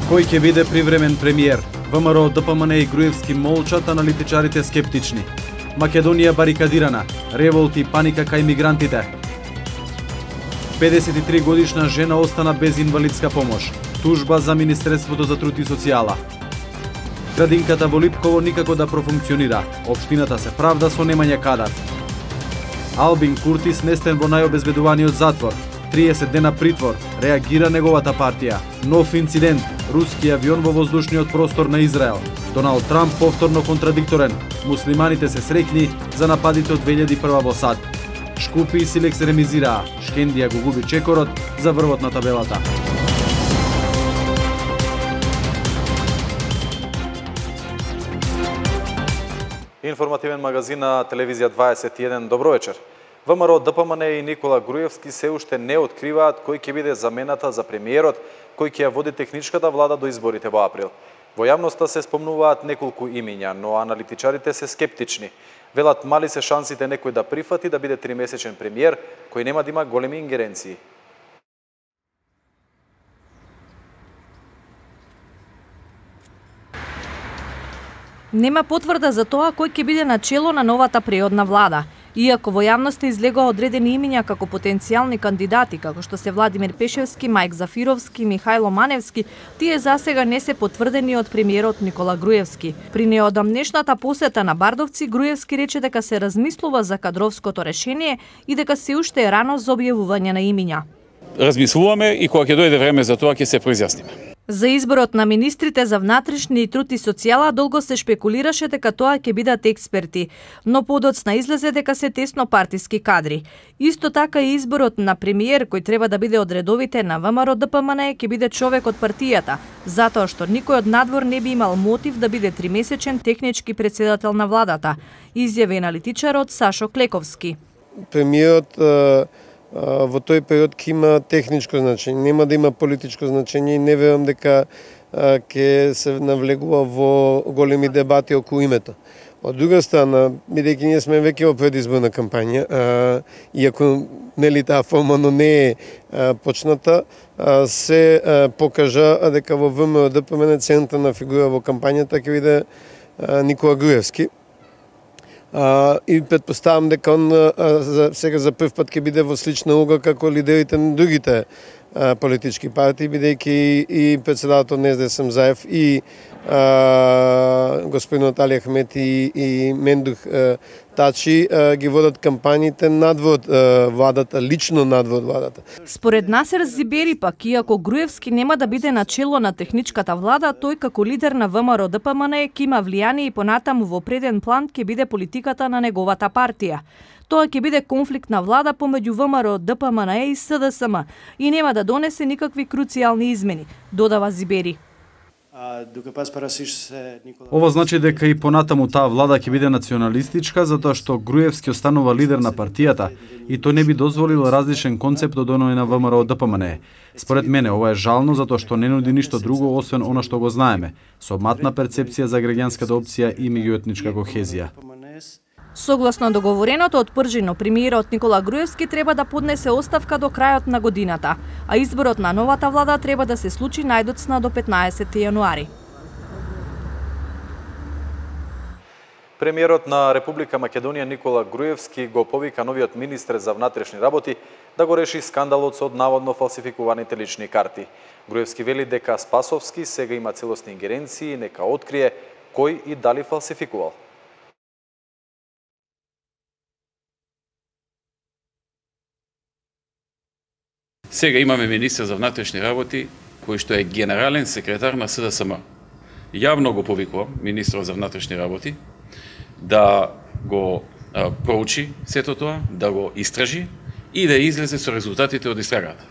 Кој ќе биде привремен премиер? ВМРО, ДПМН и Груевски молчат, аналитичарите скептични. Македонија барикадирана, револти и паника кај мигрантите. 53 годишна жена остана без инвалидска помош. Тужба за Министерството за труд и социјала. Градинката во Липково никако да профункционира. Општината се правда со немање кадар. Албин Курти сместен во најобезбедуваниот затвор. 30 дена притвор, реагира неговата партија. Нов инцидент, руски авион во воздушниот простор на Израел. Доналд Трамп повторно контрадикторен. Муслиманите се среќни за нападите од 2001 во САД. Шкупи и Силекс ремизираа. Шкендија го губи чекорот за врвот на табелата. Информативен магазин на Телевизија 21. Добро вечер. ВМРО, ДПМН и Никола Груевски се уште не откриваат кој ќе биде замената за премиерот кој ќе ја води техничката влада до изборите во април. Во јавноста се спомнуваат неколку имиња, но аналитичарите се скептични. Велат мали се шансите некој да прифати да биде 3-месечен премиер кој нема да има големи ингеренции. Нема потврда за тоа кој ќе биде на чело на новата преодна влада. Иако во јавноста излегоа одредени имиња како потенцијални кандидати, како што се Владимир Пешевски, Мајк Зафировски, Михајло Маневски, тие засега не се потврдени од премиерот Никола Груевски. При неодамнешната посета на Бардовци, Груевски рече дека се размислува за кадровското решение и дека се уште е рано за објавување на имиња. Размислуваме и кога ќе дојде време за тоа ќе се произјасниме. За изборот на министрите за внатрешни и труд и социјала долго се шпекулираше дека тоа ќе бидат експерти, но подоцна излезе дека се тесно партиски кадри. Исто така и изборот на премиер кој треба да биде од редовите на ВМРО ДПМН ќе биде човек од партијата, затоа што никој од надвор не би имал мотив да биде 3-месечен технички претседател на владата, изјави аналитичарот Сашо Клековски. Премиерот во тој период ќе има техничко значење, нема да има политичко значење и не верувам дека ќе се навлегува во големи дебати околу името. Од друга страна, бидејќи ние сме веќе во предизборна кампања, иако нели таа формално не е почната, се покажа дека во ВМРО ДПМН централна фигура во кампањата ќе биде Никола Груевски. И предпоставам дека он сега за прв пат ќе биде во слична уга како лидерите на другите политички партии, бидејќи и председателот на СДСМ Заев и господин Али Ахмети и Мендух Тачи ги водат кампањите надвор владата, лично надвор владата. Според Насер Зибери пак, иако Груевски нема да биде на чело на техничката влада, тој како лидер на ВМРО ДПМН ќе има влијание и понатаму во преден план ќе биде политиката на неговата партија. Тоа ќе биде конфликт на влада помеѓу ВМРО ДПМН и СДСМ и нема да донесе никакви круцијални измени, додава Зибери. Ова значи дека и понатаму таа влада ќе биде националистичка, затоа што Груевски останува лидер на партијата и тој не би дозволил различен концепт од оној на ВМРО ДПМН. Според мене ова е жално затоа што не нуди ништо друго освен она што го знаеме, со матна перцепција за граѓанската опција и меѓуетничка кохезија. Согласно договореното од Пржино, премиерот Никола Груевски треба да поднесе оставка до крајот на годината, а изборот на новата влада треба да се случи најдоцна до 15 јануари. Премиерот на Република Македонија Никола Груевски го повика новиот министер за внатрешни работи да го реши скандалот со наводно фалсификуваните лични карти. Груевски вели дека Спасовски сега има целосни ингеренции и нека открие кој и дали фалсификувал. Сега имаме министер за внатрешни работи, кој што е генерален секретар на СДСМ. Јавно го повикувам министерот за внатрешни работи да го проучи сето тоа, да го истражи и да излезе со резултатите од истрагата.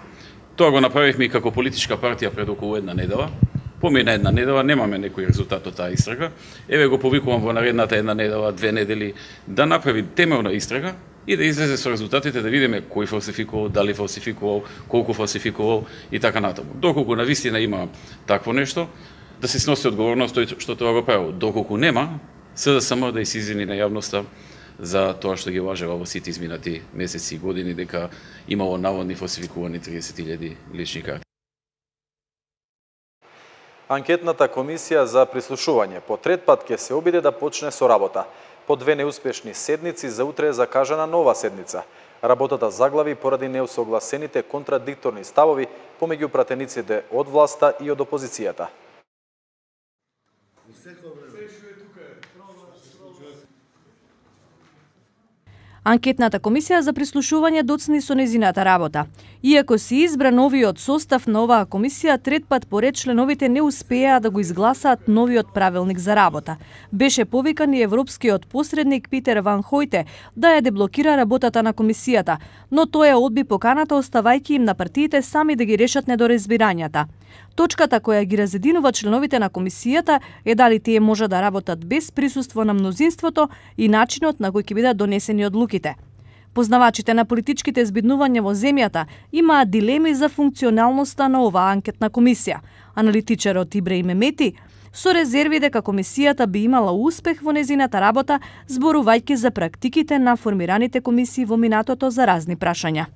Тоа го направивме и како политичка партија пред околу една недела. Помина една недела, немаме некој резултат од таа истрага. Еве го повикувам во наредната една недела, 2 недели, да направи темелна истрага и да излезе со резултатите, да видиме кој фалсификувал, дали фалсификувал, колку фалсификувал и така натаму. Доколку навистина има такво нешто, да се сноси одговорност тој што тоа го правил. Доколку нема, СДСМ да се извини на јавноста за тоа што ги лажева во сите изминати месеци и години дека имало наводни фалсификувани 30.000 лични карти. Анкетната комисија за прислушување по трет пат ќе се обиде да почне со работа. По 2 неуспешни седници за утре е закажана нова седница. Работата заглави поради неусогласените контрадикторни ставови помеѓу пратениците од власта и од опозицијата. Анкетната комисија за прислушување доцни со незината работа. Иако се избра новиот состав на оваа комисија, трет пат поред членовите не успеа да го изгласаат новиот правилник за работа. Беше повикан и европскиот посредник Питер Ван Хојте да ја деблокира работата на комисијата, но тој ја одби поканата, оставајќи им на партиите сами да ги решат недоразбирањата. Точката која ги разединува членовите на комисијата е дали тие може да работат без присуство на мнозинството и начинот на кој ќе бидат донесени одлуките. Познавачите на политичките збиднувања во земјата имаат дилеми за функционалноста на оваа анкетна комисија. Аналитичарот Ибраим Емети со резерви дека комисијата би имала успех во незината работа, зборувајќи за практиките на формираните комисии во минатото за разни прашања.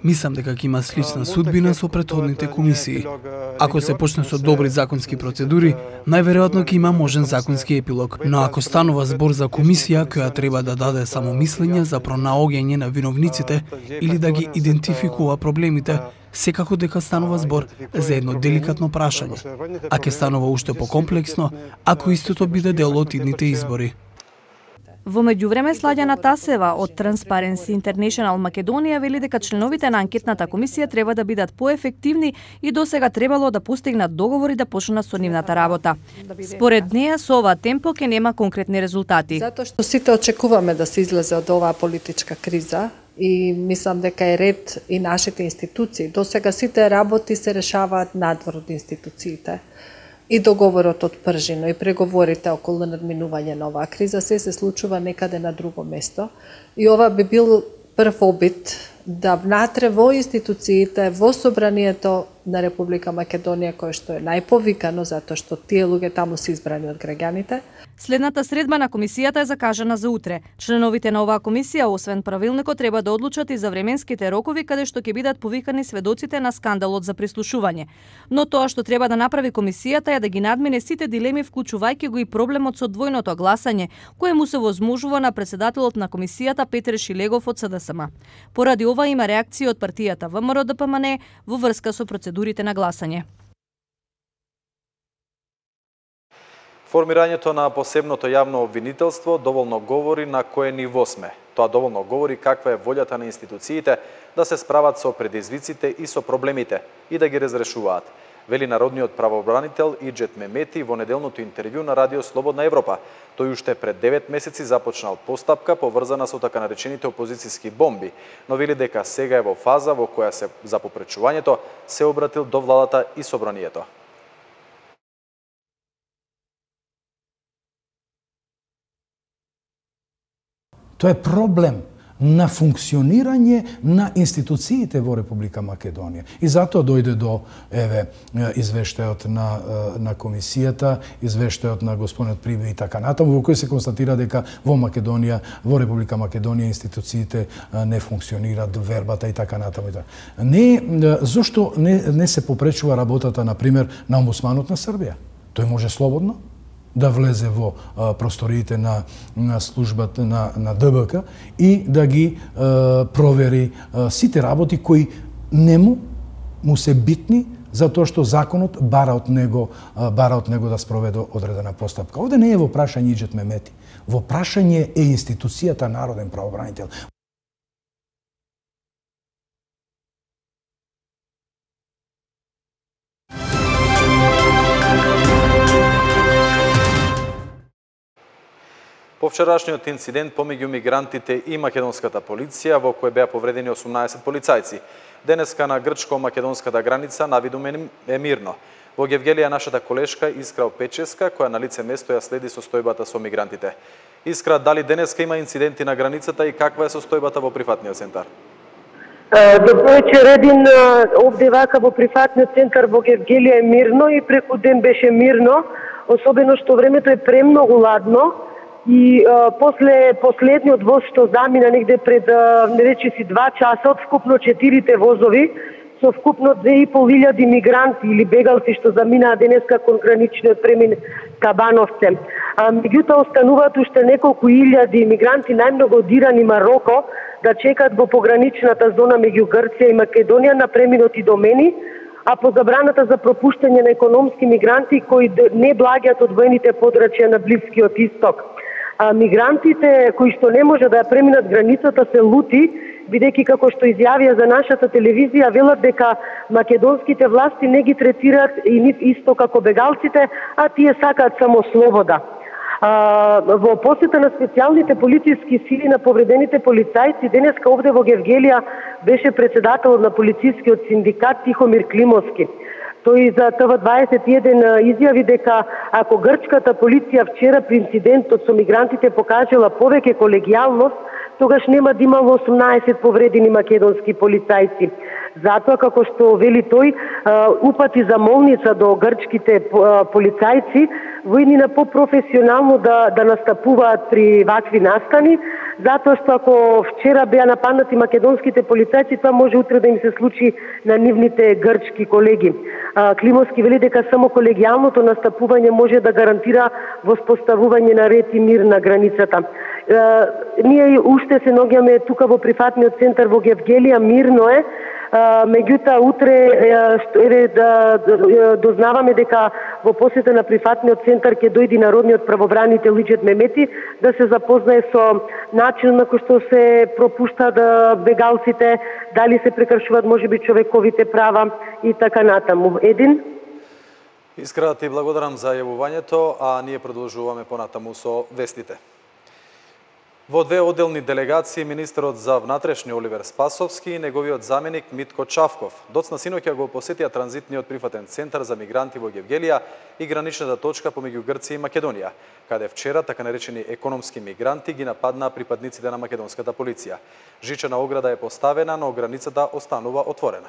Мислам дека ќе има слична судбина со претходните комисии. Ако се почне со добри законски процедури, најверојатно ќе има можен законски епилог. Но ако станува збор за комисија која треба да даде само мислење за пронаоѓање на виновниците или да ги идентификува проблемите, секако дека станува збор за едно деликатно прашање. А ќе станува уште покомплексно ако истото биде дел од идните избори. Во меѓувреме Сладјана Тасева од Transparency International Македонија вели дека членовите на анкетната комисија треба да бидат поефективни и досега требало да постигнат договори да почнат со нивната работа. Според неја со ова темпо ќе нема конкретни резултати. Затоа што сите очекуваме да се излезе од оваа политичка криза и мислам дека е ред и нашите институции. Досега сите работи се решаваат надвор од институциите. И договорот од Пржино и преговорите околу надминување на оваа криза се случува некаде на друго место. И ова би бил прв обид да внатре во институциите, во собранието на Република Македонија, кое што е најповикано, затоа што тие луѓе таму се избрани од граѓаните. Следната средба на комисијата е закажана за утре. Членовите на оваа комисија, освен правилникот, треба да одлучат и за временските рокови каде што ќе бидат повикани сведоците на скандалот за прислушување. Но тоа што треба да направи комисијата е да ги надмине сите дилеми, вклучувајќи го и проблемот со двојното гласање, кое му се возможува на претседателот на комисијата Петер Шилегов од СДСМ. Поради ова има реакција од партијата ВМРО-ДПМН во врска со процедурите на гласање. Формирањето на посебното јавно обвинителство доволно говори на кое ниво сме. Тоа доволно говори каква е волјата на институциите да се справат со предизвиците и со проблемите и да ги разрешуваат, вели народниот правобранител Иџет Мемети во неделното интервју на Радио Слободна Европа. Тој уште пред 9 месеци започнал постапка поврзана со така наречените опозицијски бомби, но вели дека сега е во фаза во која се за попречувањето се обратил до владата и собранието. Тоа е проблем на функционирање на институциите во Република Македонија. И затоа дојде до извештајот на комисијата, извештајот на господинот Прибе и така натаму, во кој се констатира дека во Македонија, во Република Македонија институциите не функционираат, вербата и така натаму. Зошто не се попречува работата, например, на омбудсманот на Србија? Тој може слободно да влезе во просториите на службата на ДБК и да ги провери сите работи кои не му се битни затоа што законот бара од него да спроведе одредена постапка. Овде не е во прашање Иџет Мемети, во прашање е институцијата народен правобранител. По вчерашниот инцидент помеѓу мигрантите и македонската полиција, во кој беа повредени 18 полицајци, денеска на грчко-македонската граница навидум е мирно. Во Гевгелија нашата колешка Искра Печеска, која на лице место ја следи состојбата со мигрантите. Искра, дали денеска има инциденти на границата и каква е состојбата во прифатниот центар? Добро вечер, Един. Овде вака во прифатниот центар во Гевгелија е мирно и преку ден беше мирно, особено што времето е премногу ладно. И после последниот воз што замина негде пред речиси 2 часа, од вкупно 4 возови со вкупно 2500 мигранти или бегалци што заминаа денеска кон граничниот премин Кабановце. Меѓутоа остануваат уште неколку илјади мигранти, најмногу од Иран и Мароко, да чекаат во пограничната зона меѓу Грција и Македонија на преминот и домени, а по забраната за пропуштање на економски мигранти кои не благаат од воените подрачја на Блискиот Исток. Мигрантите кои што не може да ја преминат границата се лути, бидејќи како што изјавија за нашата телевизија, велат дека македонските власти не ги третираат и нив исто како бегалците, а тие сакаат само слобода. Во посета на специјалните полициски сили на повредените полицајци, денеска овде во Гевгелија беше председателот на полицискиот синдикат Тихомир Климовски. Тој за ТВ21 изјави дека ако грчката полиција вчера при инцидентот со мигрантите покажала повеќе колегијалност, тогаш нема да имало 18 повредени македонски полицајци. Затоа, како што вели тој, упати замолница до грчките полицајци војнина попрофесионално да настапуваат при вакви настани, затоа што ако вчера беа нападнати македонските полицајци, тоа може утре да им се случи на нивните грчки колеги. Климовски вели дека само колегијалното настапување може да гарантира воспоставување на ред и мир на границата. Ние уште се наоѓаме тука во прифатниот центар во Гевгелија, мирно е. Меѓутоа утре дознаваме дека во посета на прифатниот центар ќе дојде народниот правобранител Лиџет Мемети да се запознае со начинот на кој што се пропуштаат бегалците, дали се прекршуваат можеби човековите права и така натаму. Искрено ти благодарам за јавувањето, а ние продолжуваме понатаму со вестите. Во две одделни делегации, министерот за внатрешни Оливер Спасовски и неговиот заменик Митко Чавков доцна синоќа го посетија транзитниот прифатен центар за мигранти во Гевгелија и граничната точка помеѓу Грција и Македонија, каде вчера така наречени економски мигранти ги нападнаа припадниците на македонската полиција. Жичена ограда е поставена, но границата останува отворена.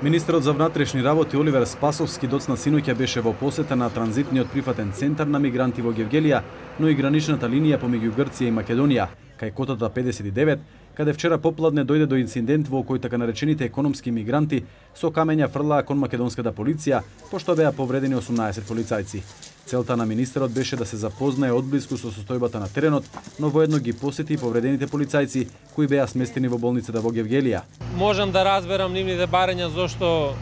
Министерот за внатрешни работи Оливер Спасовски доцна синоќа беше во посета на транзитниот прифатен центар на мигранти во Гевгелија, но и граничната линија помеѓу Грција и Македонија, кај котата 59, каде вчера попладне дојде до инцидент во кој така наречените економски мигранти со камења фрлаа кон македонската полиција, пошто беа повредени 18 полицајци. Целта на министерот беше да се запознае одблиску со состојбата на теренот, но воедно ги посети повредените полицајци кои беа сместени во болницата во Гевгелија. Можам да разберам нивните барања зошто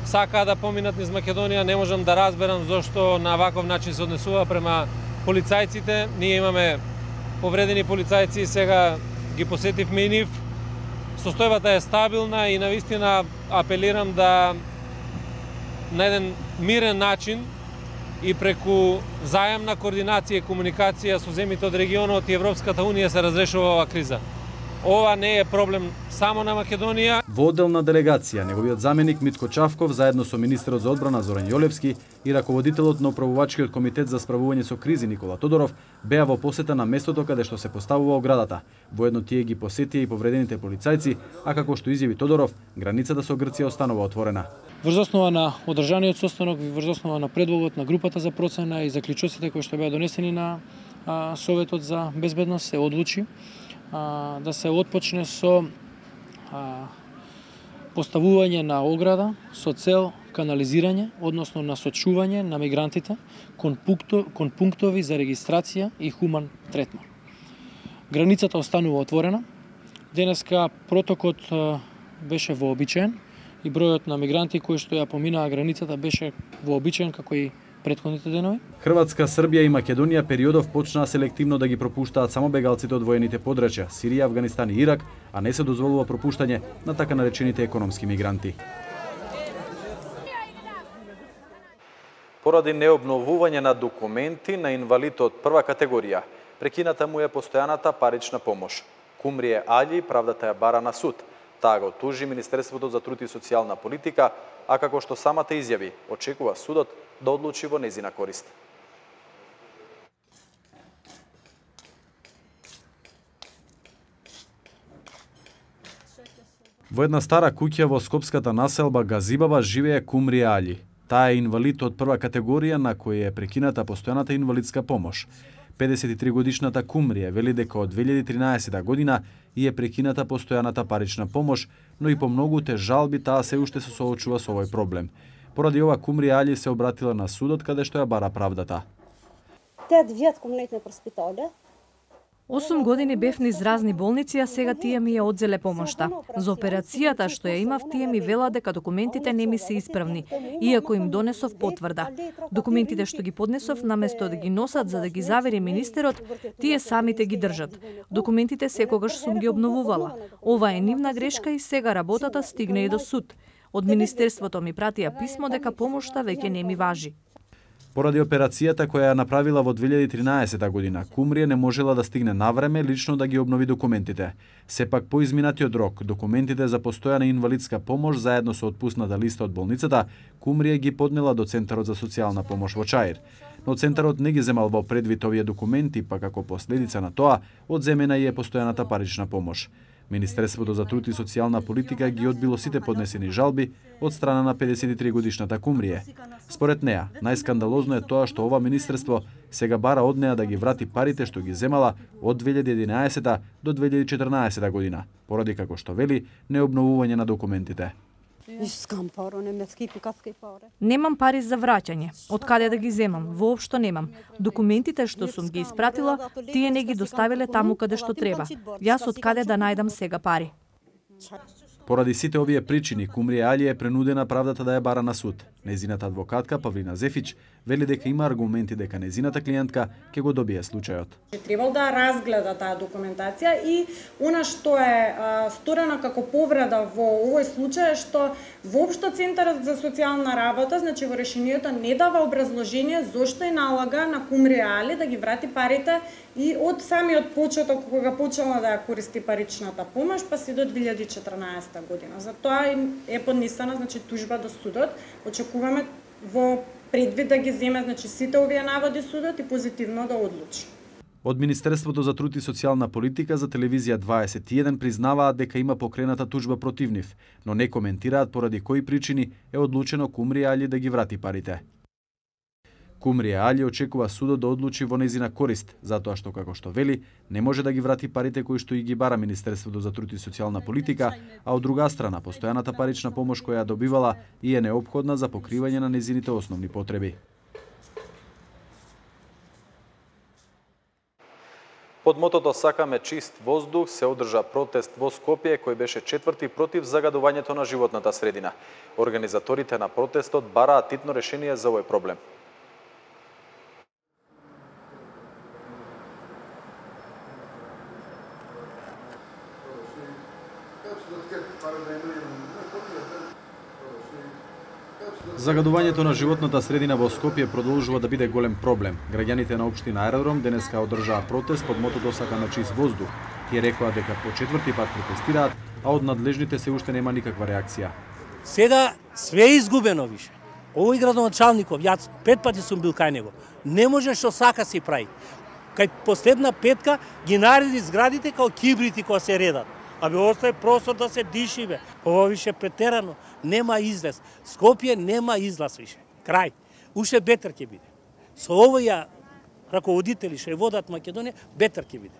сакаа да поминат низ Македонија, не можам да разберам зошто на ваков начин се однесува према полицајците. Ние имаме повредени полицајци, сега ги посетивме и нив. Состојбата е стабилна и навистина апелирам да на еден мирен начин и преку заемна координација и комуникација со земјите од регионот и Европската Унија се разрешува оваа криза. Ова не е проблем само на Македонија. Во одделна делегација, неговиот заменик Митко Чавков, заедно со министерот за одбрана Зоран Јолевски и раководителот на управувачкиот комитет за справување со кризи Никола Тодоров, беа во посета на местото каде што се поставува оградата. Воедно тие ги посетија и повредените полицајци, а како што изјави Тодоров, границата со Грција останува отворена. Врз основа на одржаниот состанок, врз основа на предлогот на групата за процена и заклучоците кои што беа донесени на Советот за безбедност, се одлучи да се отпочне со поставување на ограда со цел канализирање, односно насочување на мигрантите кон пунктови за регистрација и хуман третман. Границата останува отворена. Денеска протокот беше вообичаен и бројот на мигранти кои што ја поминаа границата беше вообичаен како и претходните денови. Хрватска, Србија и Македонија периодов почнаа селективно да ги пропуштаат само бегалците од воените подрачја Сирија, Авганистан и Ирак, а не се дозволува пропуштање на така наречените економски мигранти. Поради необновување на документи на инвалид од прва категорија, прекината му е постојаната парична помош. Кумрие Али правдата ја бара на суд. Таа го тужи Министерството за труд и социјална политика, а како што самата изјави, очекува судот да одлучи во незина корист. Во една стара куќа во скопската населба Газибаба живее Кумрие Али. Таа е инвалид од прва категорија на кој е прекината постојаната инвалидска помош. 53 годишната Кумрија вели дека од 2013 година и е прекината постојаната парична помош, но и по многуте жалби таа се уште се соочува со овој проблем. Поради ова Кумрија Али се обратила на судот каде што ја бара правдата. 8 години бев низ разни болници, а сега тие ми ја одзеле помошта. За операцијата што ја имав, тие ми велат дека документите не ми се исправни, иако им донесов потврда. Документите што ги поднесов, наместо да ги носат за да ги завери министерот, тие самите ги држат. Документите секогаш сум ги обновувала. Ова е нивна грешка и сега работата стигне и до суд. Од министерството ми пратија писмо дека помошта веќе не ми важи. Поради операцијата која ја направила во 2013 година, Кумрија не можела да стигне навреме лично да ги обнови документите. Сепак по изминатиот рок, документите за постојана инвалидска помош заедно со отпусната листа од болницата, Кумрија ги поднела до Центарот за социјална помош во Чаир. Но Центарот не ги земал во предвид овие документи, па како последица на тоа, одземена и е постојаната парична помош. Министерството за труд и социјална политика ги одбило сите поднесени жалби од страна на 53 годишната Кумрија. Според неа, најскандалозно е тоа што ова министерство сега бара од неа да ги врати парите што ги земала од 2011 до 2014 година, поради како што вели необновување на документите. Немам пари за враќање. Од каде да ги земам? Воопшто немам. Документите што сум ги испратила, тие не ги доставиле таму каде што треба. Јас од каде да најдам сега пари? Поради сите овие причини, Кумрија Али е принудена правдата да ја бара на суд. Незината адвокатка Павлина Зефич вели дека има аргументи дека незината клиентка ќе го добие случајот. Требал да разгледа таа документација и она што е сторено како повреда во овој случај е што воопшто Центарот за социјална работа, значи во решението не дава образложение зошто и налага на Кумрија Али да ги врати парите и од самиот почеток кога почела да ја користи паричната помош па си до 2014 година. Затоа е поднесена значи тужба до судот. Очекуваме во предвид да ги земе значи сите овие наводи судот и позитивно да одлучи. Од Министерството за труд и социјална политика за телевизија 21 признаваат дека има покрената тужба против нив, но не коментираат поради кои причини е одлучено Кумрија Али да ги врати парите. Кумрија Али очекува судот да одлучи во незина корист, затоа што, како што вели, не може да ги врати парите кои што и ги бара Министерството за труд и социјална политика, а од друга страна, постојаната парична помош која ја добивала и е неопходна за покривање на незините основни потреби. Под мотото "Сакаме чист воздух" се одржа протест во Скопје кој беше четврти против загадувањето на животната средина. Организаторите на протестот бараат титно решение за овој проблем. Загадувањето на животната средина во Скопје продолжува да биде голем проблем. Граѓаните на општина Аеродром денеска одржаа протест под мотото "Сакаме чист воздух". Тие рекоа дека по четврти пат протестираат, а од надлежните се уште нема никаква реакција. Сега све е изгубено више. Овој градоначалников, јас 5 пати сум бил кај него, не може што сака си прави. Кај последна петка ги нареди зградите као кибрити кои се редат. Абе, остави простор да се диши, бе. Ова више претерано. Нема излез. Скопје нема излаз више. Крај. Уште бетер ќе биде. Со овоја раководители што ја водат Македонија, бетер ќе биде.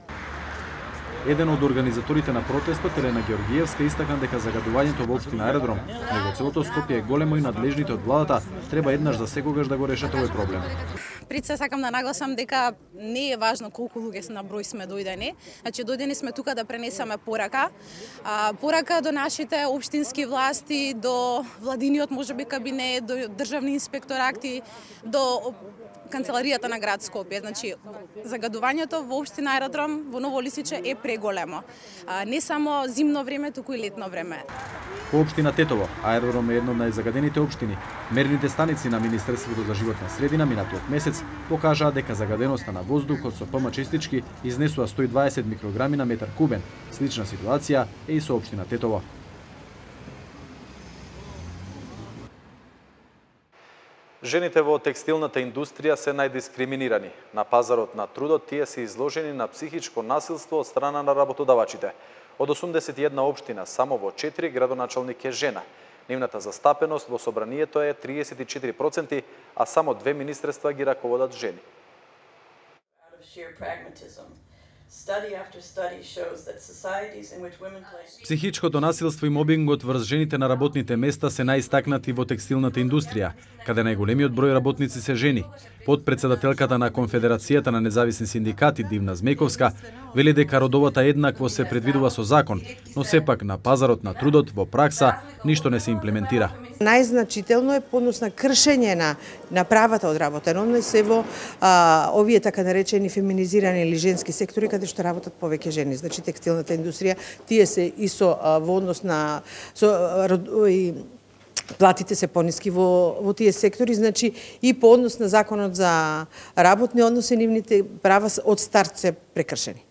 Еден од организаторите на протестот, Елена Георгиевска, истакна дека загадувањето во општина Аеродром, него целото Скопје е големо и надлежните од владата треба еднаш за секогаш да го решат овој проблем. Пред се сакам да нагласам дека не е важно колку луѓе на број сме дојдени. Значи дојдени сме тука да пренесеме порака. Порака до нашите општински власти, до владиниот можеби кабинет, до државни инспекторати, до канцеларијата на град Скопје. Значи загадувањето во општина Аеродром во Ново Лисиче е преголемо. Не само зимно време, туку и летно време. По општина Тетово, Аеродром е една од најзагадените општини. Мерните станици на Министерството за животна средина минатиот месец покажаа дека загаденоста на воздухот со ПМ честички изнесува 120 микрограми на метар кубен. Слична ситуација е и со општина Тетово. Жените во текстилната индустрија се најдискриминирани. На пазарот на трудот тие се изложени на психичко насилство од страна на работодавачите. Од 81 општина, само во 4 градоначалник е жена. Нивната застапеност во собранието е 34%, а само 2 министерства ги раководат жени. Психичкото насилство и мобингот врз жените на работните места се најистакнати во текстилната индустрија, каде најголемиот број работници се жени. Подпредседателката на Конфедерацијата на независни синдикати Дивна Змејковска вели дека родовата еднакво се предвидува со закон, но сепак на пазарот на трудот во пракса ништо не се имплементира. Најзначително е поднос на кршење на правата од работен однос се во овие така наречени феминизирани или женски сектори каде што работат повеќе жени. Значи текстилната индустрија, тие се и во однос на платите се пониски во тие сектори, значи и по однос на законот за работни односи нивните права од старт се прекршени.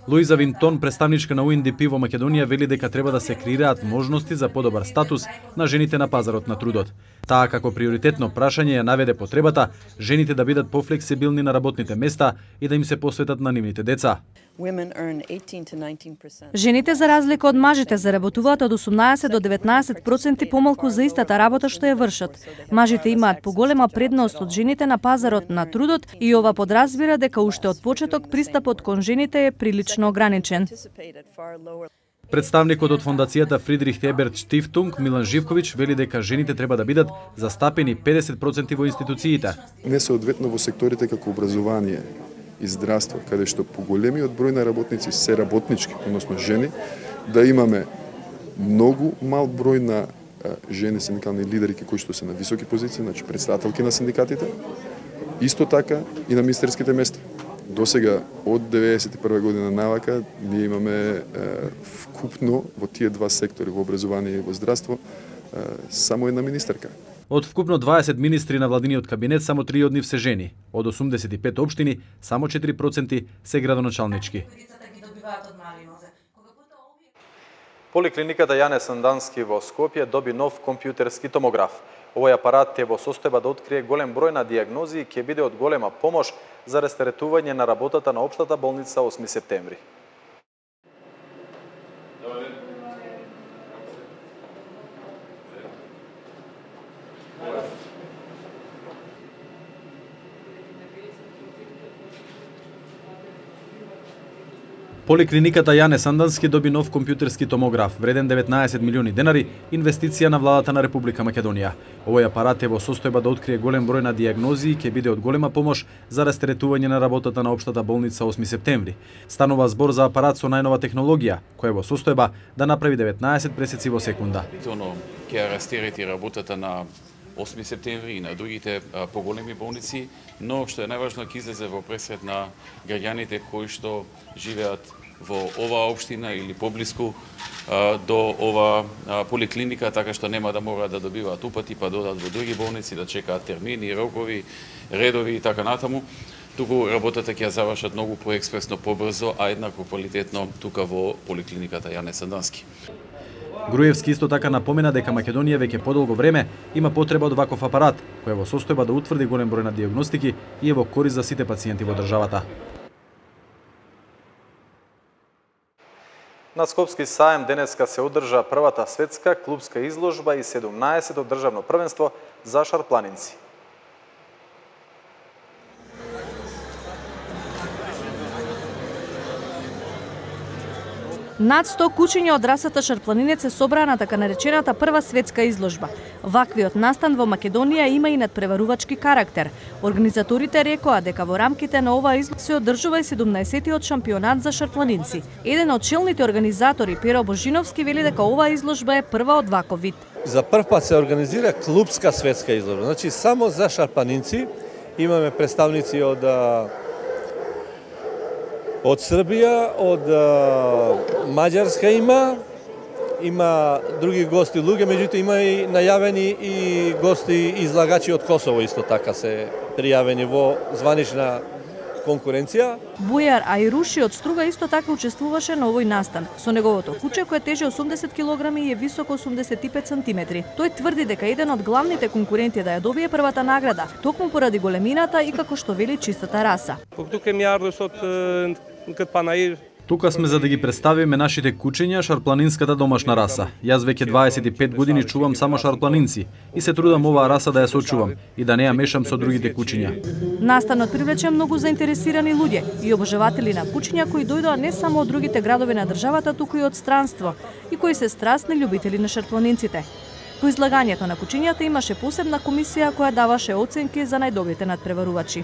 Луиза Винтон, представничка на УНДП во Македонија, вели дека треба да се креираат можности за подобар статус на жените на пазарот на трудот. Таа како приоритетно прашање ја наведе потребата жените да бидат пофлексибилни на работните места и да им се посветат на нивните деца. Жените за разлика од мажите заработуваат од 18 до 19% помалку за истата работа што ја вршат. Мажите имаат поголема предност од жените на пазарот на трудот и ова подразбира дека уште од почеток пристапот кон жените е прилично ограничен. Представникот од фондацијата Фридрих Еберт Штифтунг Милан Живковиќ вели дека жените треба да бидат застапени 50% во институциите. Не соодветно во секторите како образование и здравство, каде што поголемиот број на работници се работнички, односно жени, да имаме многу мал број на жени синдикални лидерки кои што се на високи позиции, значи претставителки на синдикатите, исто така и на министерските места. Досега од 91 година навака ние имаме вкупно во тие два сектори, во образование и во здравство, само една министерка. Од вкупно 20 министри на владиниот кабинет, само 3 од нив се жени. Од 85 општини, само 4% се градоначалнички. Поликлиниката Јане Сандански во Скопје доби нов компјутерски томограф. Овој апарат е во состојба да открие голем број на дијагнози и ќе биде од голема помош за растаретување на работата на општата болница 8 септември. Поликлиниката Јане Сандански доби нов компјутерски томограф, вреден 19 милиони денари, инвестиција на владата на Република Македонија. Овој апарат е во состојба да открие голем број на дијагнози и ќе биде од голема помош за растаретување на работата на општата болница 8 септември. Станува збор за апарат со најнова технологија, која е во состојба да направи 19 пресеци во секунда. Ќе растарети работата на 8 септември и на другите поголеми болници, но што е најважно ќе излезе во пресред на граѓаните кои што живеат во оваа општина или поблиску до ова поликлиника, така што нема да мора да добиваат упати па додат во други болници, да чекаат термини, рокови, редови и така натаму. Туку работата ќе ја завршат многу поекспресно, побрзо, а еднакво квалитетно тука во поликлиниката Јане Сандански. Груевски исто така напомена дека Македонија веќе подолго време има потреба од ваков апарат, кој е во состојба да утврди голем број на дијагностики и е во корист за сите пациенти во државата. На Скопски саем денеска се одржа првата светска клубска изложба и 17-то државно првенство за шарпланинци. Над 100 кучиња од расата шарпланинец се собраа на така наречената прва светска изложба. Ваквиот настан во Македонија има и надпреварувачки карактер. Организаторите рекоа дека во рамките на оваа изложба се одржува и 17-тиот шампионат за шарпланинци. Еден од челните организатори, Перо Божиновски, вели дека оваа изложба е прва од ваков вид. За прв пат се организира клубска светска изложба. Значи само за шарпланинци. Имаме представници од Србија, од Маđарска има други гости луѓе, меѓутоа има и најавени и гости излагачи од Косово исто така се пријавени во званична конкуренција. Бујар Ајруши од Струга исто така учествуваше на овој настан. Со неговото куче кое тежи 80 кг и е високо 85 см. Тој тврди дека еден од главните конкуренти да ја добие првата награда, токму поради големината и како што вели чистата раса. Тука ми ардос од кад Панаир Тука сме за да ги представиме нашите кучиња, шарпланинската домашна раса. Јас веќе 25 години чувам само шарпланинци и се трудам оваа раса да ја сочувам и да не ја мешам со другите кучиња. Настанот привлече многу заинтересирани луѓе и обожаватели на кучиња кои дојдоа не само од другите градови на државата, туку и од странство и кои се страстни љубители на шарпланинците. По излагањето на кучињата имаше посебна комисија која даваше оценки за најдобрите надпреварувачи.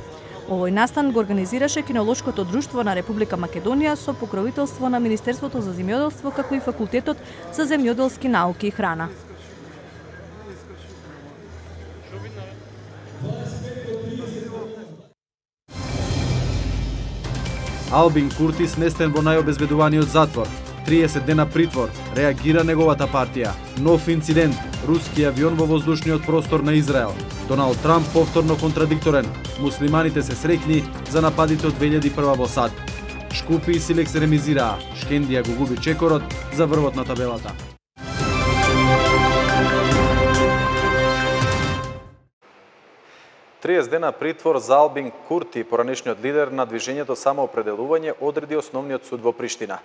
Овој настан го организираше Кинолошкото друштво на Република Македонија со покровителство на Министерството за земјоделство, како и Факултетот за земјоделски науки и храна. Албин Курти сместен во најобезбедуваниот затвор. 30 дена притвор, реагира неговата партија. Нов инцидент, руски авион во воздушниот простор на Израел. Доналд Трамп повторно контрадикторен. Муслиманите се среќни за нападите од 2001 во САД. Шкупи и Силекс ремизираа. Шкендија го губи чекорот за врвот на табелата. Дена притвор за Албин Курти, поранешниот лидер на движењето Самоопределување, одреди Основниот суд во Приштина.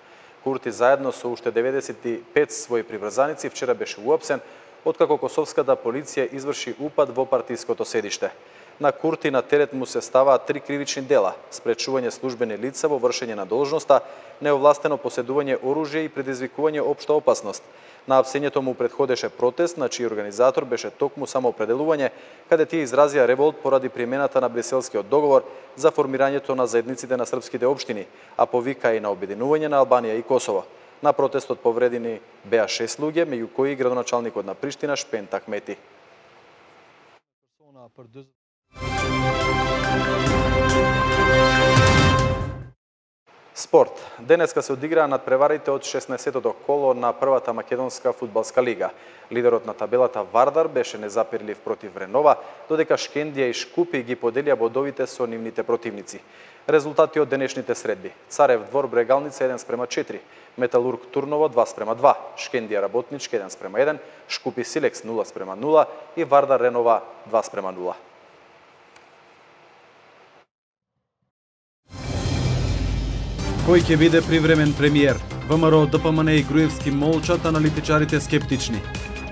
Курти заедно со уште 95 своји приврзаници вчера беше уапсен, откако косовската полиција изврши упад во партиското седиште. На Курти на терет му се ставаат 3 кривични дела: спречување службени лица во вршење на должноста, неовластено поседување оружје и предизвикување општа опасност. На апсењето му предходеше протест, на чиј организатор беше токму Самоопределување, каде тие изразија револт поради примената на Бриселскиот договор за формирањето на заедниците на српските општини, а повика и на обединување на Албанија и Косово. На протестот повредени беа 6 луѓе, меѓу кои и градоначалникот на Приштина Шпен Такмети. Спорт. Денеска се одиграа надпреварите од 16-тото коло на првата македонска фудбалска лига. Лидерот на табелата Вардар беше незапирлив против Ренова, додека Шкендија и Шкупи ги поделија бодовите со нивните противници. Резултати од денешните средби: Царев Двор Брегалница 1:4, Металург Турново 2:2, Шкендија Работничка 1:1, Шкупи Силекс 0:0 и Вардар Ренова 2:0. Кој ќе биде привремен премиер? ВМРО, ДПМН и Груевски молчат, аналитичарите скептични.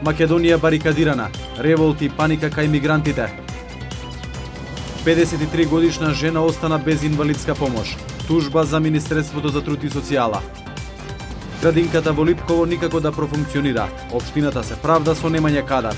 Македонија барикадирана, револт и паника кај мигрантите. 53 годишна жена остана без инвалидска помош. Тужба за Министерството за труд и социјала. Градинката во Липково никако да профункционира. Општината се правда со немање кадар.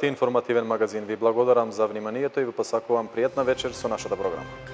Гледавте информативен магазин. Ви благодарам за вниманието и ви посакувам пријатна вечер со нашата програма.